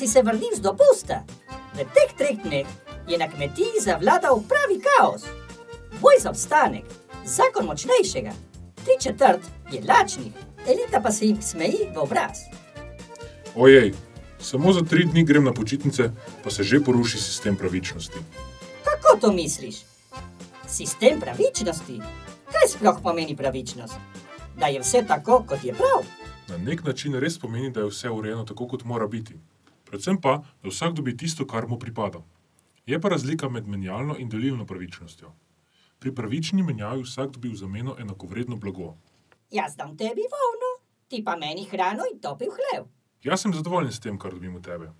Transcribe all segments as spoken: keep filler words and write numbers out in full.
si se vrnil z dopusta. V teh treh dneh je na kmetiji zavladal pravi kaos. Boj za obstanek, zakon močnejšega, tri četrt je lačnih, elita pa se jim smeji v obraz. Ojej, samo za tri dni grem na počitnice, pa se že poruši sistem pravičnosti. Kako to misliš? Sistem pravičnosti? Kaj sploh pomeni pravičnost? Da je vse tako, kot je prav? Na nek način res pomeni, da je vse urejeno tako, kot mora biti. Predvsem pa, da vsak dobi tisto, kar mu pripada. Je pa razlika med menjalno in delilno pravičnostjo. Pri pravični menjavi vsak dobi v zameno enakovredno blago. Jaz dam tebi volno, ti pa meni hrano in topel hlev. Jaz sem zadovoljen s tem, kar dobim od tebe.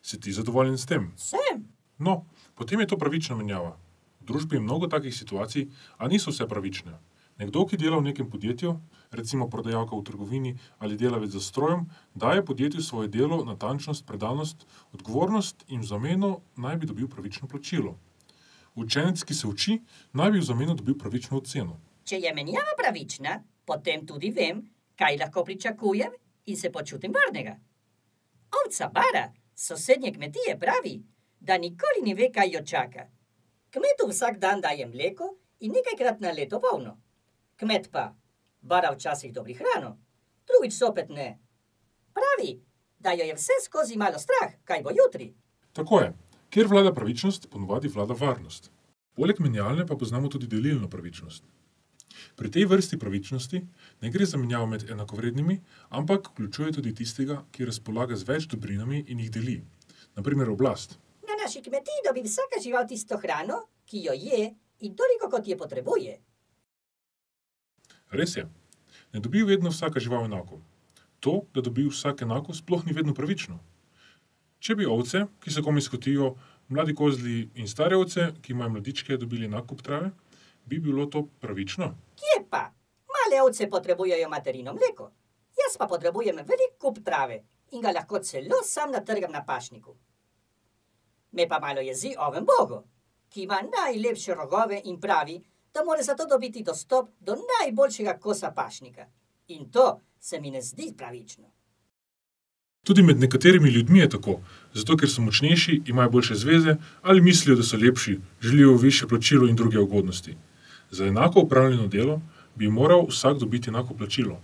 Si ti zadovoljen s tem? Sem. No, potem je to pravična menjava. V družbi je mnogo takih situacij, a niso vse pravične. Nekdo, ki dela v nekem podjetju, recimo prodajalka v trgovini ali delavec za strojem, daje podjetju svoje delo, natančnost, predanost, odgovornost in v zameno naj bi dobil pravično plačilo. Učenec, ki se uči, naj bi v zameno dobil pravično oceno. Če je menjava pravična, potem tudi vem, kaj lahko pričakujem in se počutim varnega. Ovca Bara s sosednje kmetije pravi, da nikoli ne ve, kaj jo čaka. Kmetu vsak dan daje mleko in nekajkrat na leto volno. Kmet pa, Bara včasih dobri hrano, drugič sopet ne. Pravi, da jo je vse skozi malo strah, kaj bo jutri. Tako je. Kjer vlada pravičnost, ponovadi vlada varnost. Poleg menjalne pa poznamo tudi delilno pravičnost. Pri tej vrsti pravičnosti ne gre za menjavo med enakovrednimi, ampak vključuje tudi tistega, ki razpolaga z več dobrinami in jih deli. Na primer oblast. Na naši kmetiji dobi vsaka žival tisto hrano, ki jo je in toliko, kot je potrebuje. Res je. Ne dobi vedno vsaka žival enako. To, da dobi vsak enako, sploh ni vedno pravično. Če bi ovce, ki se komaj skotijo, mladi kozli in stare ovce, ki imajo mladičke, dobili enak kup trave, bi bilo to pravično? Kje pa? Male ovce potrebujejo materino mleko. Jaz pa potrebujem velik kup trave in ga lahko celo sam natrgam na pašniku. Me pa malo jezi oven bogo, ki ima najlepše rogove in pravi, da mora zato dobiti dostop do najboljšega kosa pašnika. In to se mi ne zdi pravično. Tudi med nekaterimi ljudmi je tako, zato ker so močnejši, imajo boljše zveze ali mislijo, da so lepši, želijo višje plačilo in druge ugodnosti. Za enako opravljeno delo bi moral vsak dobiti enako plačilo.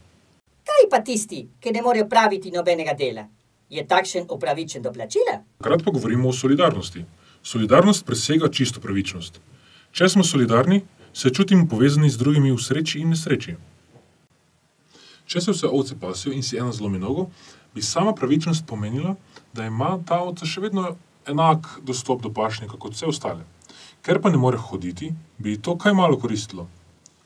Kaj pa tisti, ki ne morejo praviti nobenega dela? Je takšen upravičen do plačila? Takrat pa govorimo o solidarnosti. Solidarnost presega čisto pravičnost. Če smo solidarni, se čutimo povezani z drugimi v sreči in nesreči. Če se vse ovce pasijo in si ena zlomi nogo, bi sama pravičnost pomenila, da ima ta ovca še vedno enak dostop do pašnika kot vse ostale. Ker pa ne more hoditi, bi ji to kaj malo koristilo.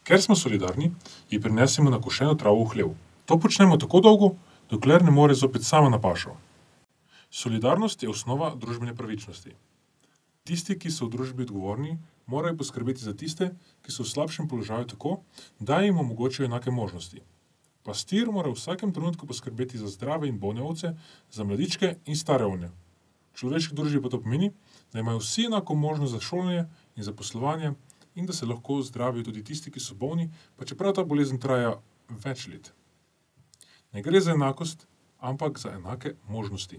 Ker smo solidarni, ji prinesemo nakošeno travo v hlev. To počnemo tako dolgo, dokler ne more zopet sama na pašo. Solidarnost je osnova družbene pravičnosti. Tisti, ki so v družbi odgovorni, morajo poskrbeti za tiste, ki so v slabšem položaju tako, da jim omogočijo enake možnosti. Pastir mora v vsakem trenutku poskrbeti za zdrave in bolne ovce, za mladičke in stare ovne. V človeški družbi pa to pomeni, da imajo vsi enako možnost za šolanje in za poslovanje in da se lahko zdravijo tudi tisti, ki so bolni, pa čeprav ta bolezen traja več let. Ne gre za enakost, ampak za enake možnosti.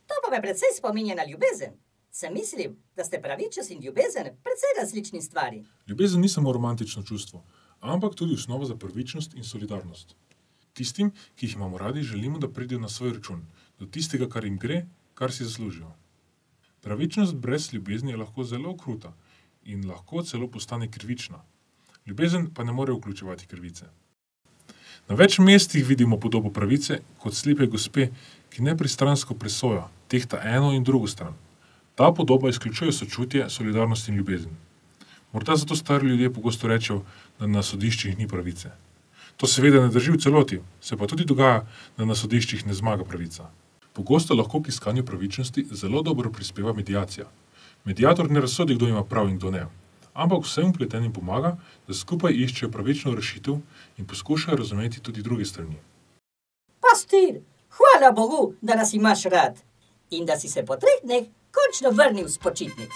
To pa me precej spominja na ljubezen. Sem mislil, da ste pravičnost in ljubezen precej različni stvari. Ljubezen ni samo romantično čustvo, ampak tudi osnova za pravičnost in solidarnost. Tistim, ki jih imamo radi, želimo, da pridejo na svoj račun, do tistega, kar jim gre, kar si zaslužijo. Pravičnost brez ljubezni je lahko zelo kruta in lahko celo postane krivična. Ljubezen pa ne more vključevati krivice. Na več mestih vidimo podobo pravice kot slepe gospe, ki nepristransko presoja, tehta eno in drugo stran. Ta podoba izključuje sočutje, solidarnost in ljubezen. Morda zato stari ljudje pogosto rečejo, da na sodiščih ni pravice. To seveda ne drži v celoti, se pa tudi dogaja, da na sodiščih ne zmaga pravica. Pogosto lahko k iskanju pravičnosti zelo dobro prispeva mediacija. Mediator ne razsodi, kdo ima prav in kdo ne, ampak vsem vpletenim pomaga, da skupaj iščejo pravično rešitev in poskušajo razumeti tudi druge strani. Pastir, hvala Bogu, da nas imaš rad in da si se po treh dneh končno vrnil s počitnic.